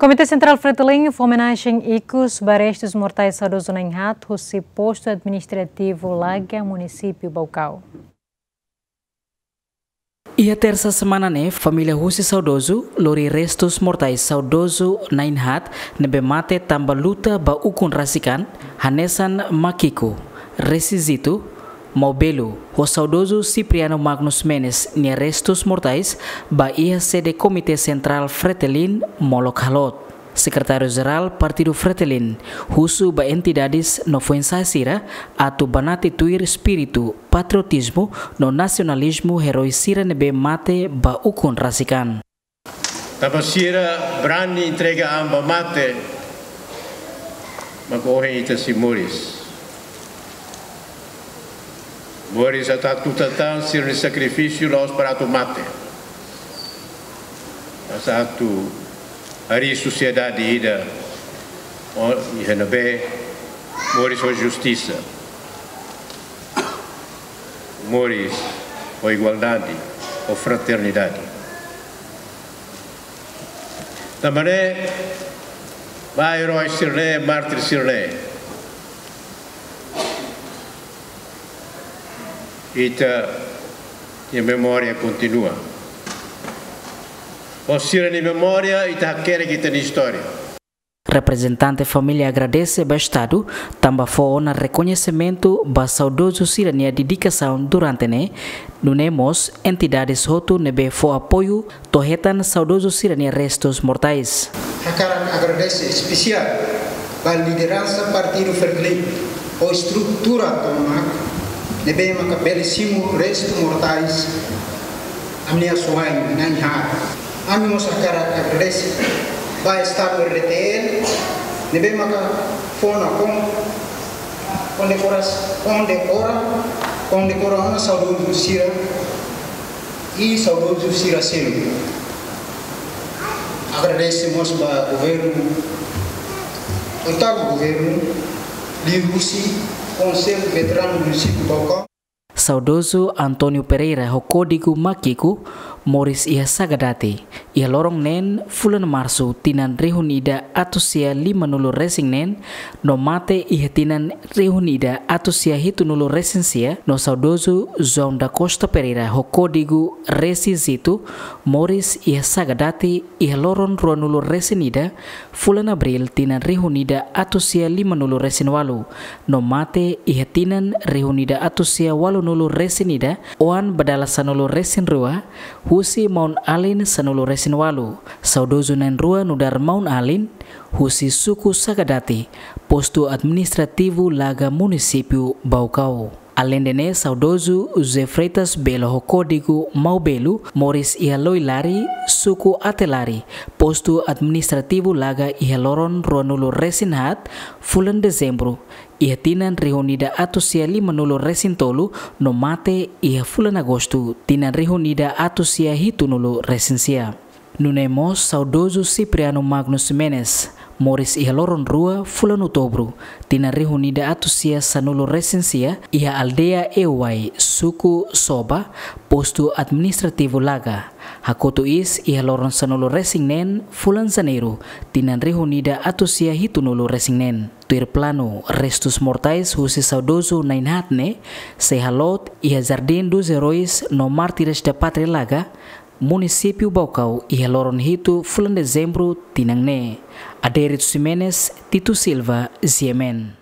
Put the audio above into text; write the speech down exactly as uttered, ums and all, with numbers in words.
Komité Sentrál Fretilin fó omenajen ikus ba restus mortais saudozu na'in-haat husi Postu Administrativu Laga, Munisípiu Baucau. Iha tersa semana ne'e, família husi saudozu lori restus mortais saudozu na'in-haat ne'ebé mate tanba luta ba ukun rasik an, hanesan makiku, resizitu, maubelu, ho saudozu Cipriano Magnus Menes nia restus mortais ba iha sede Komité Sentrál Fretilin molok halot. Sekretáriu Jerál Partidu Fretilin husu ba entidades no foin-sa'e sira atu banati tuir espíritu patriotizmu no nasionalizmu eroi sira ne'ebé mate ba ukun rasik an. Tanba sira brani entrega an ba mate, mak ohin ita sei moris. Moris atu hatutan tan sira-nia sakrifísiu la'ós para atu mate. Mas atu harii sosiedade ida, o, iha ne'ebé moris ho justisa, moris ho igualdade, ho fraternidade. Tanba ne'e, ba eroi sira-ne'e, mártir sira-ne'e, ita-nia memória kontinua. Ho sira-nia memória, ita hakerek ita-nia istória. Reprezentante família agradese ba Estadu tanba fó ona rekoñesimentu ba saudozu sira-nia dedikasaun durante ne'e, nune'e mós entidades hotu ne'ebé fó apoiu to'o hetan saudozu sira-nia restus mortais. Hakarak agradese espesiál ba lideransa Partidu Fretilin ho estrutura tomak ne'ebé maka bele simu restu mortais ami-nia asuwa'in na'in-haat. Ami mós hakarak agradese ba Estadu R D T L ne'ebé maka fó ona kon-, kondekoras-, kondekora, kondekora ona saudozu sira i saudozu sira seluk. Agradese mós ba governu, oitavu governu, liuhusi Konsellu Veteranu Munisípiu Baucau. Saudozu António Pereira ho kódigu makiku moris iha Sagadati, iha loron neen fulan Marsu tinan rihun ida atus sia lima-nulu resin neen, no mate iha tinan rihun ida atus sia hitu-nulu resin sia, no saudozu João da Costa Pereira ho kódigu Resizitu moris iha Sagadati iha loron rua-nulu resin ida fulan Abríl tinan rihun ida atus sia lima-nulu resin walu, no mate iha tinan rihun ida atus sia walu-nulu resin ida, oan ba dala sanulu resin rua, husi maun-alin sanulu resin walu. Saudozu na'in-rua nu'udar maun-alin, husi suku Sagadati, Postu Administrativu Laga, Munisípiu Baucau. Aleinde ne'e, saudozu José Freitas Belo ho kódigu Maubelo moris iha Loilari, suku Atelari, Postu Administrativu Laga iha loron rua-nulu resin haat fulan Dezembru iha tinan rihun ida atus sia lima-nulu resin tolu, no mate iha fulan Agostu tinan rihun ida atus sia hitu-nulu resin sia. Nune'e mós saudozu Cipriano Magnus Menes moris iha loron rua fulan Outubru tinan rihun ida atus sia sanulu resin sia iha aldeia Euai, suku Soba, Postu Administrativu Laga, hakotu iis iha loron sanulu resin neen fulan Janeiru tinan rihun ida atus sia hitu-nulu resin neen. Tuir planu, restus mortais husi saudozu na'in-haat ne'e sei haloot iha Jardim dos Heróis no Mártires da Pátria Laga, Munisípiu Baucau, iha loron hitu fulan Dezembru tinan ne'e. Adérito Ximenes, Tito Silva, G M N.